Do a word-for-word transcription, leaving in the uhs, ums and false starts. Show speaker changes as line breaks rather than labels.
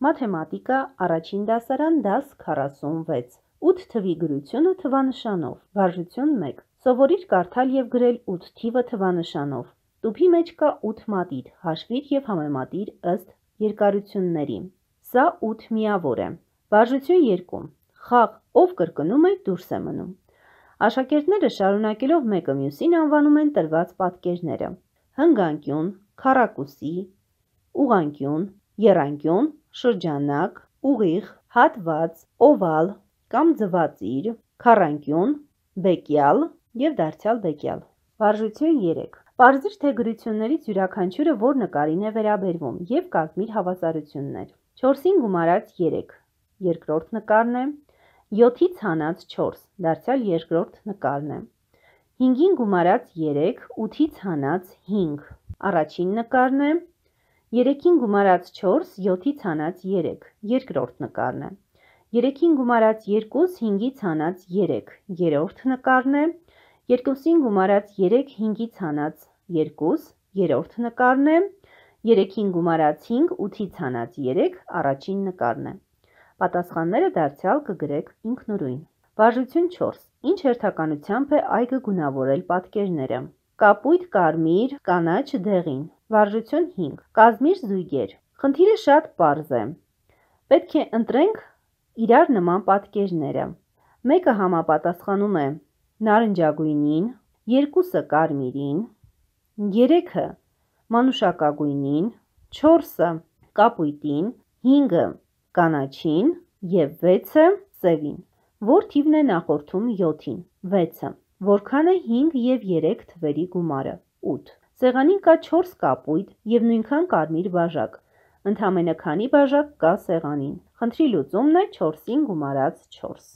Մաթեմատիկա առաջին դասարան դաս քառասունվեց ութ թվի գրությունը թվանշանով վարժություն մեկ Սովորիր կարդալ և գրել ութ թիվը թվանշանով Տուփի մեջ կա ութ մատիտ հաշվիր և համեմատիր ըստ երկարությունների Սա ութ միավոր է Վարժություն երկու Խաղ ով կրկնում է դուրս է մնում Աշակերտները շարունակելով մեկը մյուսին անվանում են տրված պատկերները հնգանկյուն, քառակուսի, ուղղանկյուն, եռանկյուն, շրջանակ, ուղիղ, հատված, օվալ կամ ձվածիր, քառանկյուն, բեկյալ և դարձյալ բեկյալ Վարժություն երեք Պարզիր թե գրություններից յուրաքանչյուրը որ նկարին է վերաբերվում և կազմիր հավասարություններ չորսին գումարած երեք երկրորդ նկարն է յոթից հանած չորս դարձյալ երկրորդ նկարն է հինգին գումարած երեք ութից հանած հինգ առաջին նկարն է երեքին գումարած չորս յոթից հանած երեք երկրորդ նկարն է երեքին գումարած երկուս հինգից հանած երեք երրորդ նկարն է երկուսին գումարած երեք հինգից հանած երկուս երրորդ նկարն է երեքին գումարած հինգ ութից հանած երեք առաջին նկարն է Պատասխանները դարձյալ կգրեք ինքնուրույն Վարժություն չորս Ինչ հերթականությամբ է այգը գունավորել պատկերները Կապույտ կարմիր կանաչ դեղին Վարժություն հինգ Կազմիր զույգեր Խնդիրը շատ պարզ է Պետք է ընտրենք իրար նման պատկերները Մեկը համապատասխանում է նարնջագույնին Երկուսը կարմիրին Երեքը մանուշակագույնին Չորսը կապույտին Հինգը կանաչին և վեցը սևին Որ թիվն է նախորդում յոթին վեցը Որքան է հինգ և երեք թվերի գումարը ութ Սեղանին կա չորս կապույտ և նույնքան կարմիր բաժակ Ընդամենը քանի բաժակ կա սեղանին Խնդրի լուծումն է չորսին գումարած չորս